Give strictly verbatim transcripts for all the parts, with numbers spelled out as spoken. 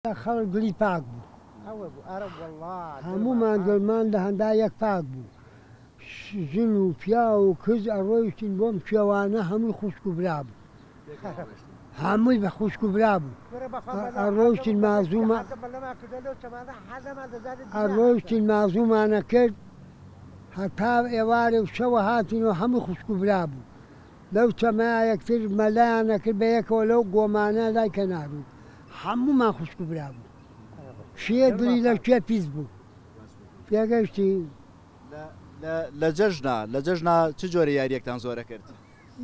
خەڵک دڵی پاک بوو، هەموومان دڵمان لە هەندا یەک پاک بوو. ژن و پیا و کز ئەڕۆیشتین بۆم کێوانە، هەمووی خوشک و برا بوو، هەمووی بە خوشک و برا بوو. ئەڕۆیشتین مازوومە ئەڕۆیشتین مازوومانە کرد هەتا ئێوارێ و شەوە هاتین و هەموو خوشک و برا بوو. لەو چەمەیە یەکتر مەلایانە کرد بە یەکەوە لەو گۆمانە لای کەنار بوو، هەموومان خوشک و برا بوو. شێ دڵی لە کوێ پیس بوو پێگەشتی. لە جەژنا لە جەژنا چ جۆرە یاریەکتان زۆرە کرد؟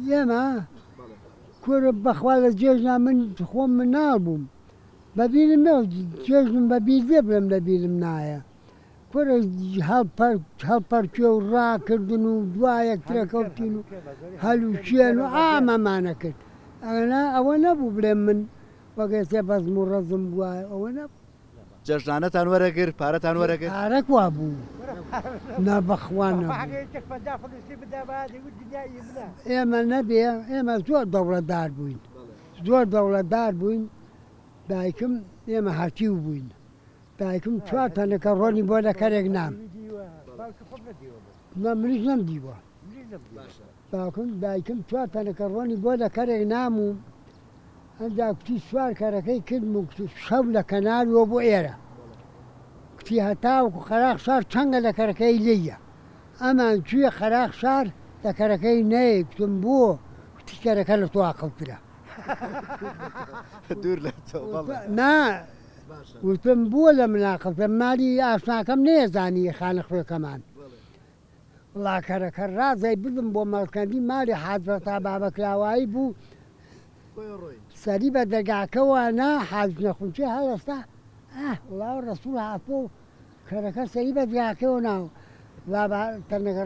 ئێمە کورە بەخوا لە جێژنا من خۆم مناڵ بووم، بەبیرم نەوە جێژنم بەبیر بێ بڵێم لەبیرم نایە. کورە هەڵپەرکێ و ڕاکردن و دوایەک ترەکەوتین و هەلوچێن و ئامەمانە کرد. ئەوە نەبوو بڵێم من وەگەسێ بەزم و ڕەزم بووە، ئەوە نەبوو. جەژنانەتان وەرەگرت، پارەتان وەرەگرت؟ پارەک وا بوو، نا بەخوا نەبوو. ئێمە نەبێ، ئێمە زۆر دەوڵەتدار بووین، زۆر دەوڵەتدار بووین. دایکم ئێمە هەتیو بووین، دایکم چوار تەنەکە ڕۆنی بۆ لە کەرێک نام، نا منیش نەمدیوە. باوکم دایکم چوار تەنەکە ڕۆنی بۆ لە کەرێک نام و ئەنجا کوتی سوار کەرەکەی کردم و کوتی شەو لە کەناریەوە بۆ ئێرە. کوتی هەتاوەکو قەراخ شار چەنگە لە کەرەکەی لێیە، ئەمان کوێ قەراخ شار لە کەرەکەی نەیە. کوتم بۆ؟ کوتی کەرەکە لە تۆ ئاقڵترە. دوور لە تۆ. نا وتم بۆ لە من ئاقڵترە، مالی ئاشناکەم نەیەزانی خانە خوێکەمان. وڵا کەرەکە ڕازای بردم بۆ مەڵکەندی مالی حاجرەتا بابەکراوایی بوو، سەری بە دەرگاکەوە نا حاج نەخونچێ هەڵەستا. وڵا ڕەسوڵ هاتۆ کەرەکە سەری بە دەرگاکەوە ناو تەنەکە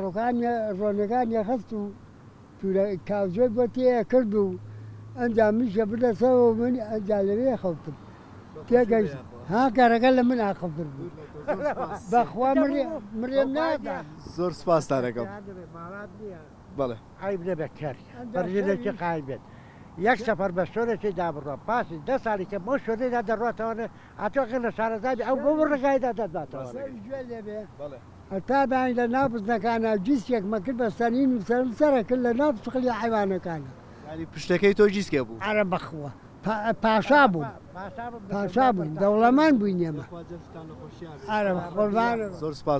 ڕۆنەکانی خست و کاوجۆی بۆ تێ کرد و ئەنجا منیشە بردەسەوە من ئەنجا لەوێ خەوتم. تێگەیشت ها کەرەکە لە من ئاقڵتر بوو. بەخوا مڕێم نادا. زۆر سوپاستان ئەکەم. بەڵێ عیب نەبێت کەر بەرژێکی قایم بێت. یەک سەفەر بە شۆرێکی دابڕۆ پاسی دە ساڵی کە بۆ شۆرێدا دەڕاتەوە ئەتۆ لە شارەزابی ئەو بۆ ڕێگایدا دەداتەوە. هەتا بانی لە ناو بزنەکانە گیسکێک مەکرد بە سەرین و سەرم سەرە کرد لە ناو سقلی حیوانەکانە. یعنی پشتەکەی تۆ گیسکێ بوو؟ ئەرە بەخوا پاشا بوو، پاشا بووین، دەوڵەمەند بووین ئێمە. ئەرە قوربانە. زۆر سوپاس.